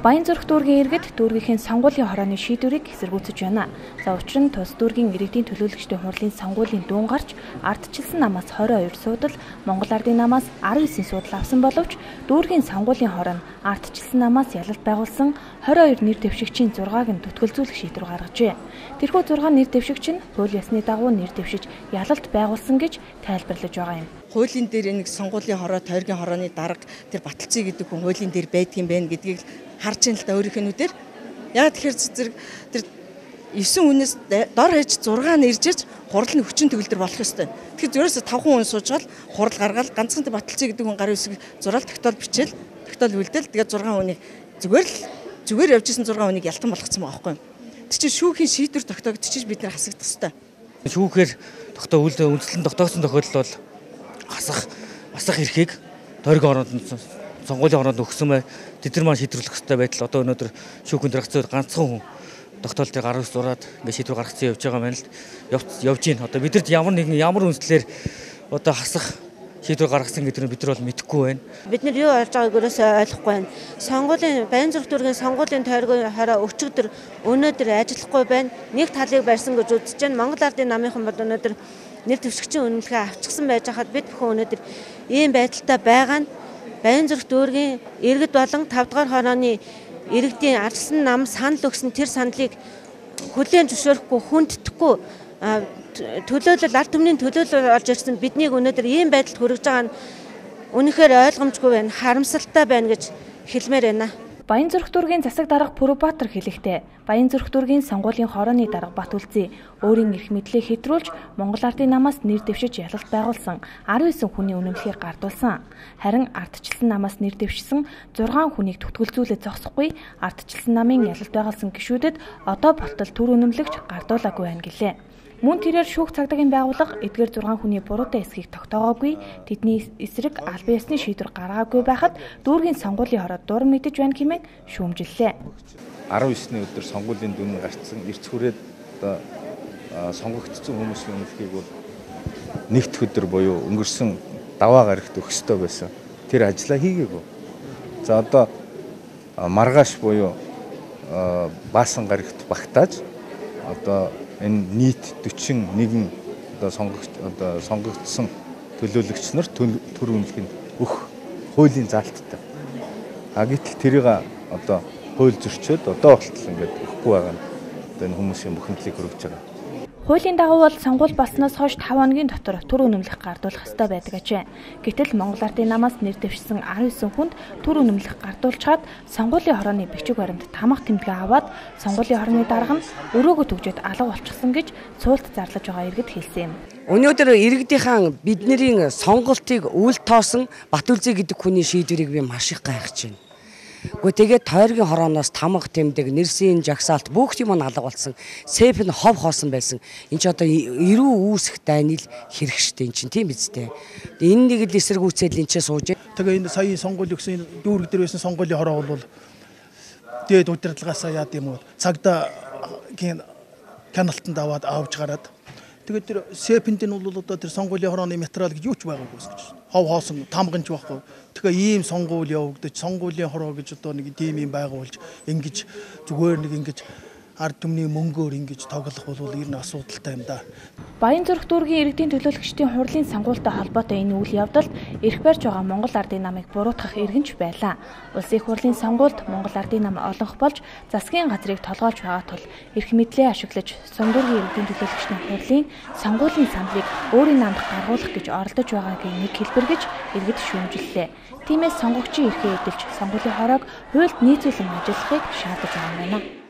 Баянзүрх дүүргийн иргэд дүүргийнхээ сонгуулийн хорооны шийдвэрийг эсэргүүцэж байна. За учир нь тус дүүргийн иргэдийн төлөөлөгчдийн хурлын сонгуулийн дуун гарч ардчилсан намаас 22 суудал, Монгол Ардын намаас 19 суудал авсан боловч дүүргийн сонгуулийн хороо нь ардчилсан намаас ялалт байгуулсан 22 нэр дэвшигчийн 6-ыг нь түтгэлзүүлэх шийдвэр гаргажээ. Тэрхүү 6 нэр дэвшигч нь хууль ёсны дагуу нэр дэвшиж ялалт байгуулсан гэж тайлбарлаж байгаа юм. Хуулийн дээр нэг сонгуулийн хороо, тойргийн хорооны дарга тэр Баталцыг гэдэг хүн хуулийн дээр байдаг юм байна гэдгийг харж ин л да өөрийнхөө нүдээр. Яг тэгэхээр зэрэг тэр 9 хүнээс дор хаяж 6 нэржиж хурал нь хүчин төгөлдөр болох ёстой. Тэгэхээр зөрөөс 5 хүн суужгаад хурал гаргаад ганцхан тэр Баталцыг гэдэг хүн гарын үсэг зураал тогтоол бичээл, тогтоол үлдээл тэгээд 6 хүнийг зүгээр явж исэн 6 хүнийг ялтан болгоцсон байгаа байхгүй юу. Тэр чинь шүүхийн шийдвэр тогтоогдчих бид нар хасагдах ёстой. Шүүхээр үндслэн тогтоосон тохиолдол бол асах эрхийг тойргийн ороонд сонгуулийн ороонд өгсөн бай. Тэд нар маань шийдвэрлэх ёстой байтал одоо өнөөдөр шүүхийн дэргэцээр ганцхан хүн тогтоол дээр гар ус зураад ингээд шийдвэр гаргацсан явж байгаа юм байна л явж гин. Одоо бидэрт ямар үндслээр одоо хасах шийдвэр гаргасан гэдэг нь бид нар бол мэдэхгүй байна. Бид нар юу олж байгааг өрөөсөө ойлгохгүй байна. Сонгуулийн Баянзүрх дүүргийн сонгуулийн тойргийн хороо өчигдөр өнөөдөр ажиллахгүй байна. Нэг талыг барьсан гэж үзэж байна. Монгол Ардын намынхан бол өнөөдөр нэр дэвшигчийн үнэлгээ авчихсан байж хаад бид бүхэн өнөөдөр ийм байдалтай байгаа нь Баянзүрх дүүргийн иргэд болон 5 дугаар хорооны иргэдийн ардсан нам санал өгсөн тэр саналыг хүлээн зөвшөөрөхгүй хүндэтгэхгүй төлөөлөл ард түмний төлөөлөл олж ирсэн биднийг өнөөдөр ийм байдалд хүргэж байгаа нь үнэхээр ойлгомжгүй байна, харамсалтай байна гэж хэлмээр байна. Баянзүрх дүүргийн засаг дарга Пүрбаатар хэлэхдээ Баянзүрх дүүргийн сонгуулийн хорооны дарга Батүлзий өөрийн эрх мэдлийг хэтрүүлж Монгол Ардын намаас нэр дэвшиж ялалт байгуулсан 19 хүний үнэмлэхийг гардуулсан. Харин ардчилсан намаас нэр дэвшсэн 6 хүнийг түтгэлзүүлээд зогсохгүй ардчилсан намын ялалт байгуулсан гишүүдэд одоо болтол төр үнэмлэгч гардуулаагүй байна гэлээ. Мөн тэрээр шүүх цагдаагийн байгууллага эдгээр 6 хүний буруутай эсхийг тогтоогоогүй, тэдний эсрэг албан ёсны шийдвэр гаргаагүй байхад дүүргийн сонгуулийн хороо дур мэдэж байна хэмээн шүүмжиллээ. 19-ны өдөр сонгуулийн дүн гарцсан эрц хүрээд одоо сонгогдсон хүмүүсийн үнэлгээг бол нэгд өдөр буюу өнгөрсөн даваа гарагт өгөх ёстой байсан. Тэр ажлаа хийгээгүй. За одоо маргааш буюу баасан гарагт багтааж одоо энэ нийт 41 одоо сонгогдсон төлөөлөгч нар төр үнэлгээг өгөх хуулийн заалттай. Гэтэл тэрийг одоо хууль зөрчөөд одоо болтол ингээд өгөхгүй байгаа нь одоо энэ хүмүүсийн бухимдлыг хүргэж байгаа. Хуулийн дагуу бол сонгуул болсноос хойш 5 хоногийн дотор төр үнэмлэх гардуулах ёстой байдаг ажээ. Гэтэл Монгол Ардын намаас нэр дэвшсэн 19 хүнд төр үнэмлэх гардуулчаад сонгуулийн хорооны бичиг баримт тамга тэмдэглээ аваад сонгуулийн хорооны дарга нь өрөөгөө төгжөөд алга болчихсон гэж цуулт зарлаж байгаа иргэд хэлсэн юм. Өнөөдөр иргэдийнхэн бидний сонголтыг үл тоосон Батүлзий гэдэг хүний шийдвэрийг би маш их гайхаж байна. Гэхдээ тэгээд тойргийн хорооноос тамга тэмдэг, нэрсийн жагсаалт бүх юм алга болсон. Сэп нь хов хоосон байсан. Энд ч одоо эрүү үүсэх дайныг хэрэг штэ эн чинь тийм биз дээ. Энэ нэг л эсэргүүцэл энэ ч сууж. Тэгээ энэ саяын сонгуул өгсөн дүүрэг дээр байсан сонгуулийн хороо бол дээд удирдлагаасаа яад юм уу цагдаа каналтанд авч гараад тэгээд тэр сэпэнд нь бол одоо тэр сонгуулийн хорооны материал гэж юу ч байгаагүй гэж. Хов хоосон тамганч байхгүй. Тэгэхээр ийм сонгуул явагдаж сонгуулийн хороо гэж одоо нэг тийм юм байгуулж ингэж зүгээр нэг ингэж ард түмний мөнгөөр ингэж тоглох бол ер нь асуудалтай юм да. Баянзүрх дүүргийн иргэдийн төлөөлөгчдийн хурлын сонгуультай холбоотой энэ үйл явдалд эрх барьж байгаа Монгол Ардын намыг буруутгах иргэнч байлаа. Улсын их хурлын сонгуульд Монгол Ардын нам олонх болж засгийн газрыг толгойлж байгаа тул эрх мэдлээ ашиглаж Сумдүүргийн иргэдийн төлөөлөгчдийн хурлын сонгуулийн саналыг өөрийн намд гаргуулах гэж оролдож байгаагийн нэг хэлбэр гэж иргэд шүүмжиллээ. Тиймээс сонгогчийн эрхээ эдэлж сонгуулийн хороог хуульд нийцүүлэн ажиллахыг шаардаж байгаа юм байна.